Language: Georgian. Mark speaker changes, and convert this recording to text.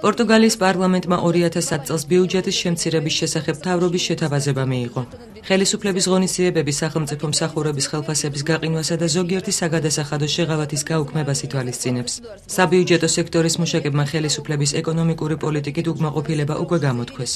Speaker 1: პორტუგალიის პარლამენტმა 2010 წელს ბიუჯეტის შემცირების შესახებ მთავრობის შეთავაზება მიიღო. ხელისუფლების ღონისძიებები სახელმწიფო მსახურების ხელფასების გაყინვასა და ზოგიერთი საგადასახადო შეღავათის გაუქმებას ითვალისწინებს. საბიუჯეტო სექტორის მუშაკებმა ხელისუფლების ეკონომიკური პოლიტიკით უკმაყოფილება უკვე გამოთქვეს.